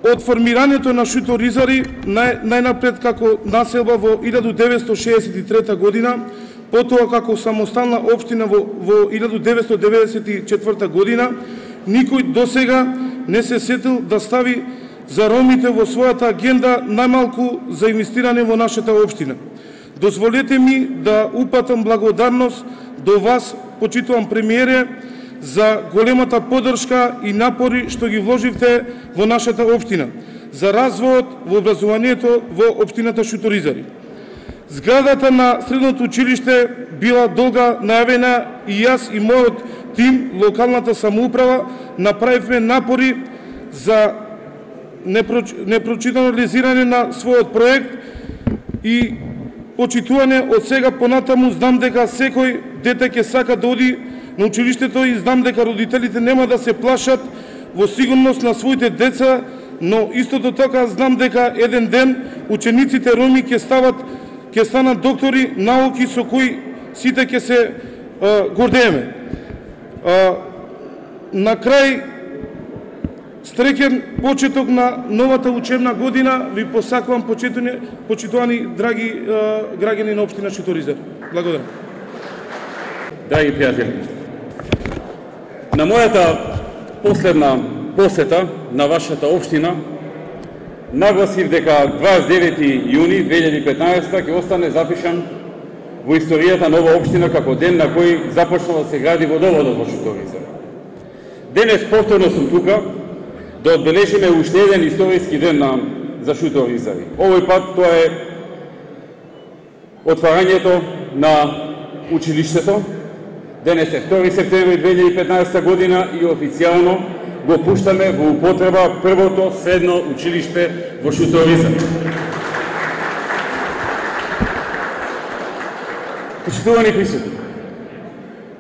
од формирањето на шуторизари најнапред како населба во 1963 година, потоа како самостална општина во 1994 година, никој досега не се сетил да стави за ромите во својата агенда најмалку за инвестирање во нашата општина. Дозволете ми да упатам благодарност до вас, почитувам премиере, за големата поддршка и напори што ги вложивте во нашата општина, за развојот во образованието во општината Шуторизари. Зградата на средното училиште била долга најавена и јас и мојот тим, локалната самоуправа, направивме напори за непрочитализирање на својот проект и почитување од сега понатаму. Знам дека секој дете ќе сака да оди на училиштето и знам дека родителите нема да се плашат во сигурност на своите деца, но истото така знам дека еден ден учениците роми ќе станат доктори, науки со кои сите ќе се гордееме. На крај, среќен почеток на новата учебна година ви посакувам, почитувани драги граѓани на општина Шуторизари. Благодарам. Драги пријатели, на мојата последна посета на вашата општина нагласив дека 29 јуни 2015 ќе остане запишан во историјата на ова општина како ден на кој започнува да се гради водоводот во Шуторизари. Денес повторно сум тука да одбележиме уште еден историски ден за Шуторизари. Овој пат тоа е отварањето на училиштето. Денес е 2 септември 2015 година и официјално го пуштаме во употреба првото средно училиште во Шуторизари. Почитувани присутни,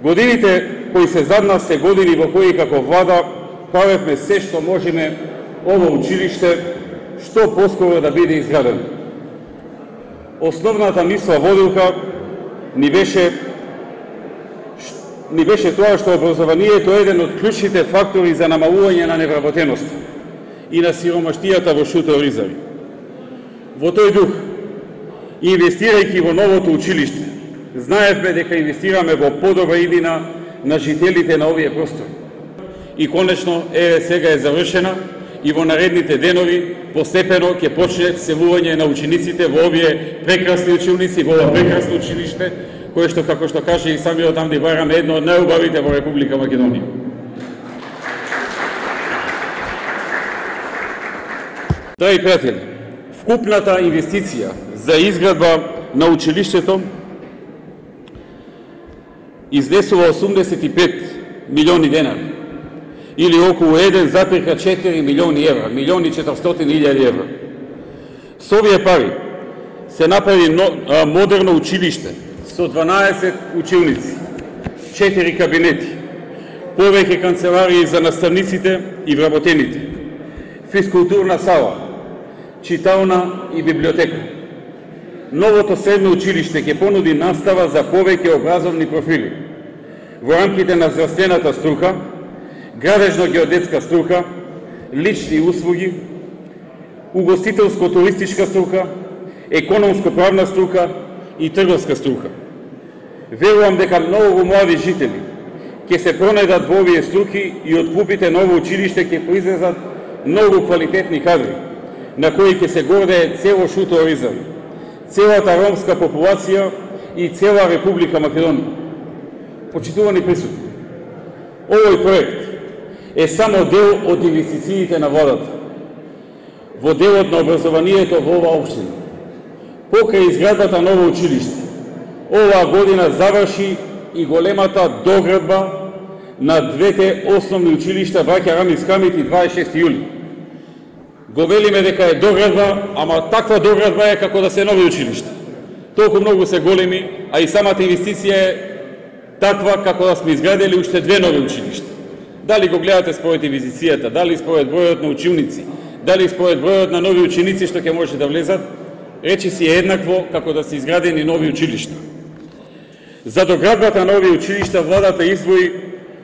годините кои се зад нас се години во кои како влада правевме се што можеме ово училиште што поскоро да биде изградено. Основната мисла водилка ни беше тоа што образованието е еден од клучните фактори за намалување на невработеност и на сиромаштијата во Шуторизари. Во тој дух, инвестирајќи во новото училиште, знаевме дека инвестираме во подобра иднина на жителите на овие простори. И конечно, сега е завршена и во наредните денови постепено ќе почне вселување на учениците во овие прекрасни училници, во ова прекрасно училиште, кое што, како што каже и самиот Амди Байрам, е едно од најубавите во Република Македонија. Драги пријатели, вкупната инвестиција за изградба на училиштето изнесува 85 милиони денари, или околу 1,4 милиони евра, 1.400.000 евра. Со овие пари се направи модерно училиште со 12 училници, 4 кабинети, повеќе канцеларии за наставниците и вработените, физкултурна сала, читална и библиотека. Новото средно училиште ќе понуди настава за повеќе образовни профили во рамките на здравствената струка, градежно-геодетска струка, лични услуги, угостителско-туристичка струка, економско-правна струка и трговска струка. Верувам дека многу млади жители ќе се пронедат во овие струки и од клупите на ово училиште ќе произлезат многу квалитетни кадри, на кои ќе се гордее цело Шуторизари, целата ромска популација и цела Република Македонија. Почитувани присутни, овој проект е само дел од инвестициите на владата во делот на образованието во оваа општина. Покрај изградбата на ново училиште, оваа година заврши и големата доградба на двете основни училишта Браќа Рамис Хамид и 26 јули. Го велиме дека е доградба, ама таква доградба е како да се нови училишта. Толку многу се големи, а и самата инвестиција е таква како да сме изградили уште две нови училишта. Дали го гледате според инвестицијата, дали според бројот на училници, дали според бројот на нови ученици што ќе може да влезат, речи си е еднакво како да се изградени нови училишта. За доградбата на овие училишта владата издвои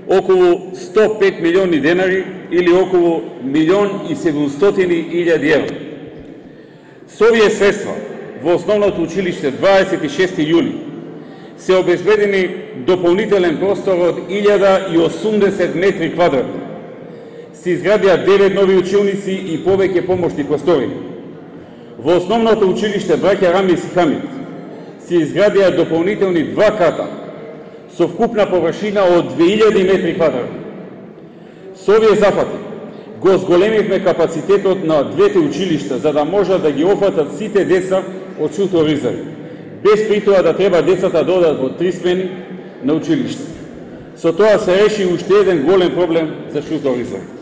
околу 105 милиони денари или околу 1.700.000 евро. Со овие средства во основното училиште 26 јули се обезбедени дополнителен простор од 1080 метри квадратни. Се изградија 9 нови училници и повеќе помошни простори. Во основното училиште браќа Рамис и Хамид се изградија дополнителни 2 ката со вкупна површина од 2000 метри квадратни. Со овие зафати го зголемивме капацитетот на двете училишта за да можат да ги опфатат сите деца од Шутор Ризари, без при тоа да треба децата да одат во 3 смени на училиште. Со тоа се реши уште еден голем проблем за Шутор Ризари.